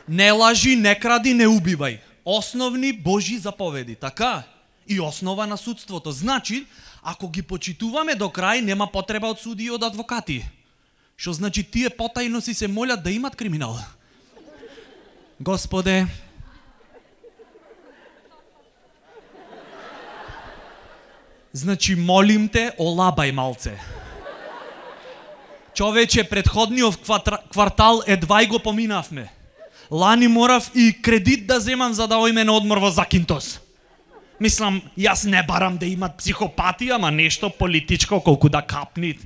Не лажи, не кради, не убивај. Основни Божи заповеди, така? И основа на судството. Значи, ако ги почитуваме до крај, нема потреба од суди и од адвокати. Што значи тие потајно си се молят да имат криминал. Господе, значи молим те, олабај малце. Човече, предходниот квартал едва и го поминавме. Лани морав и кредит да земам за да ојме на одмор во Закинтос. Мислам, јас не барам да имат психопати, ама нешто политичко колку да капнит.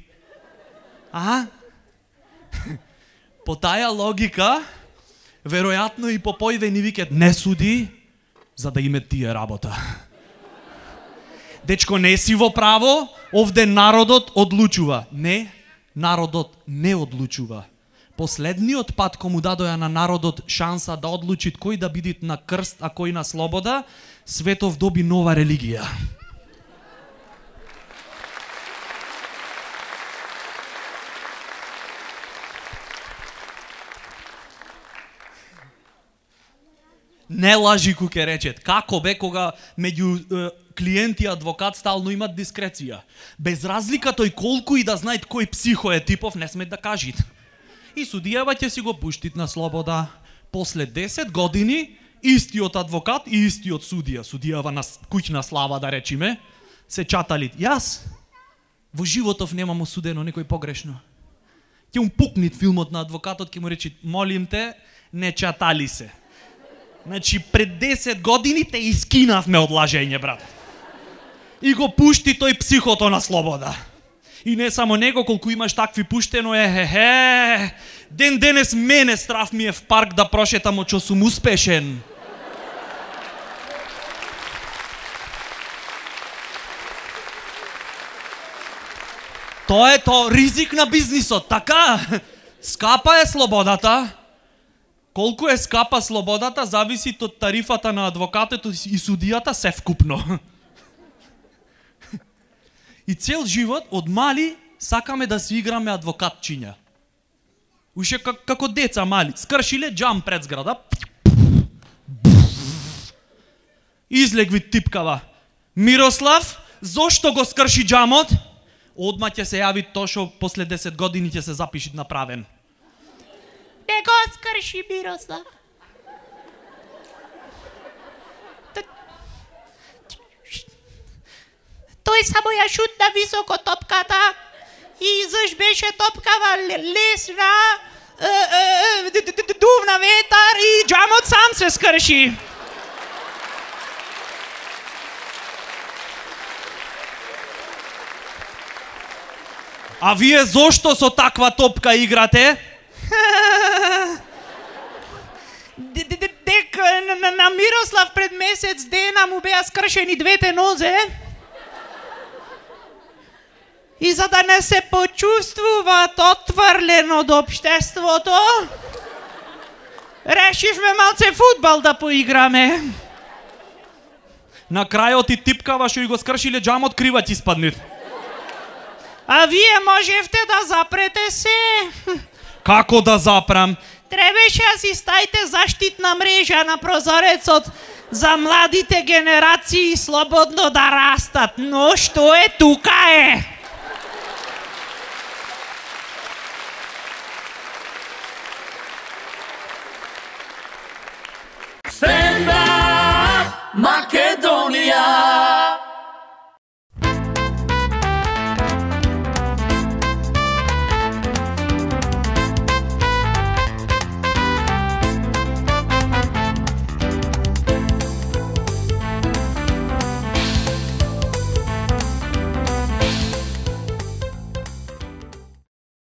По таја логика, веројатно и попојве ни викет не суди, за да име тие работа. Дечко, не си во право, овде народот одлучува. Не, народот не одлучува. Последниот пат кому дадоја на народот шанса да одлучи кој да биде на крст, а кој на слобода, светов доби нова религија. Не лажи, куке речет. Како бе кога меѓу клиент и адвокат стално имат дискреција? Без разлика тој колку и да знаат кој психо е типов, не смет да кажит. И судијава ќе си го пуштит на слобода. После 10 години, истиот адвокат и истиот судија, судијава на куќна слава да речиме, се чатали. Јас во животов немам осудено некој погрешно. Ќе му пукнит филмот на адвокатот, ќе му речи, молим те, не чатали се. Значи, пред 10 години те искинавме од лажење, брат. И го пушти тој психото на слобода. И не само него, колку имаш такви пуштено ден денес мене страф ми е в парк да прошетам очо сум успешен. Тоа е то ризик на бизнисот, така? Скапа е слободата. Колку е скапа слободата, зависи од тарифата на адвокатот и судијата се вкупно. И цел живот, од мали, сакаме да си играме адвокатчиња. Уште како деца мали. Скршиле джам пред зграда. Излегви типкава. Мирослав, зошто го скрши джамот? Одма ќе се јави то што после 10 години ќе се запиши направен. Не го скрши Мирослав. Тој само ја шутна високо топката и заш беше топкава лесна, дувна ветар и джамот сам се скрши. А вие зошто со таква топка играте? Дека на Мирослав пред месец дена му беа скршени двете нозе. И за да не се почувствуваат отврлен од општеството, решивме малце фудбал да поиграме. На крајот и типкава што и го скршиле джамот, криваc испаднит. А вие можевте да запрете се. Како да запрам? Требаше да си ставите заштитна мрежа на прозорецот за младите генерации слободно да растат. Но што е тука е? Stand up, Македонија!